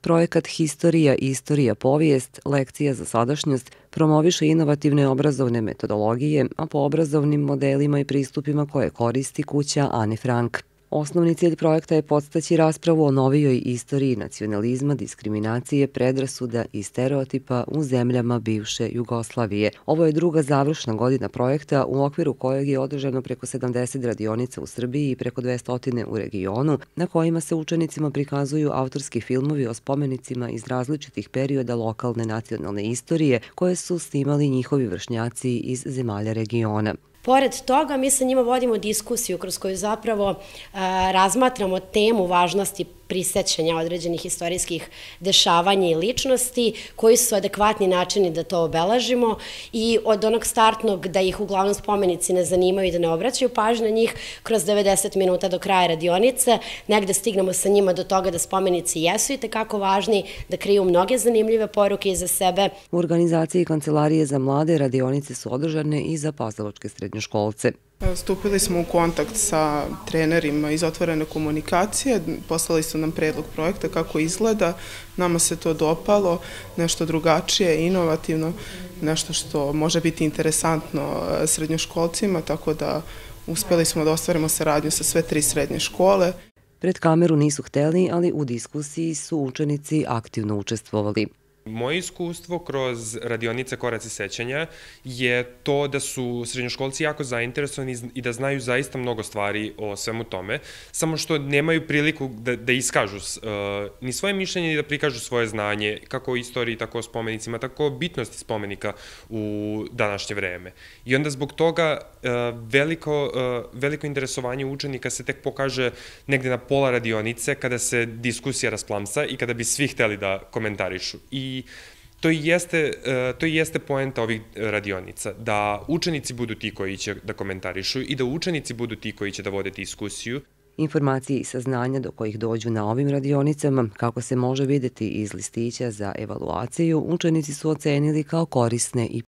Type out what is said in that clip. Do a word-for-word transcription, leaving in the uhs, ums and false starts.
Projekat Historija i istorija povijest, lekcija za sadašnjost, promoviše inovativne obrazovne metodologije, a po obrazovnim modelima i pristupima koje koristi kuća Ane Frank. Osnovni cilj projekta je podstaći raspravu o novijoj istoriji nacionalizma, diskriminacije, predrasuda i stereotipa u zemljama bivše Jugoslavije. Ovo je druga završna godina projekta u okviru kojeg je održano preko sedamdeset radionica u Srbiji i preko dvesta u regionu, na kojima se učenicima prikazuju autorski filmovi o spomenicima iz različitih perioda lokalne nacionalne istorije koje su snimali njihovi vršnjaci iz zemalja regiona. Pored toga, mi sa njima vodimo diskusiju kroz koju zapravo razmatramo temu važnosti prisećanja određenih istorijskih dešavanja i ličnosti, koji su adekvatni načini da to obeležimo i od onog startnog da ih uglavnom spomenici ne zanimaju i da ne obraćaju pažnju na njih, kroz devedeset minuta do kraja radionice, negde stignemo sa njima do toga da spomenici jesu i tekako važni, da kriju mnoge zanimljive poruke iza sebe. U organizaciji Kancelarije za mlade radionice su održane i za pazovačke srednjoškolce. Stupili smo u kontakt sa trenerima iz otvorene komunikacije, poslali su nam predlog projekta kako izgleda, nama se to dopalo, nešto drugačije, inovativno, nešto što može biti interesantno srednjoškolcima, tako da uspeli smo da ostvarimo saradnju sa sve tri srednje škole. Pred kameru nisu hteli, ali u diskusiji su učenici aktivno učestvovali. Moje iskustvo kroz radionice Koraci sećanja je to da su srednjoškolci jako zainteresovani i da znaju zaista mnogo stvari o svemu tome, samo što nemaju priliku da, da iskažu uh, ni svoje mišljenje ni da prikažu svoje znanje, kako o istoriji, tako o spomenicima, tako o bitnosti spomenika u današnje vreme. I onda zbog toga uh, veliko, uh, veliko interesovanje učenika se tek pokaže negde na pola radionice kada se diskusija rasplamsa i kada bi svi hteli da komentarišu. I to i jeste, to i jeste poenta ovih radionica, da učenici budu ti koji će da komentarišu i da učenici budu ti koji će da vode diskusiju. Informacije i saznanja do kojih dođu na ovim radionicama, kako se može videti iz listića za evaluaciju, učenici su ocenili kao korisne i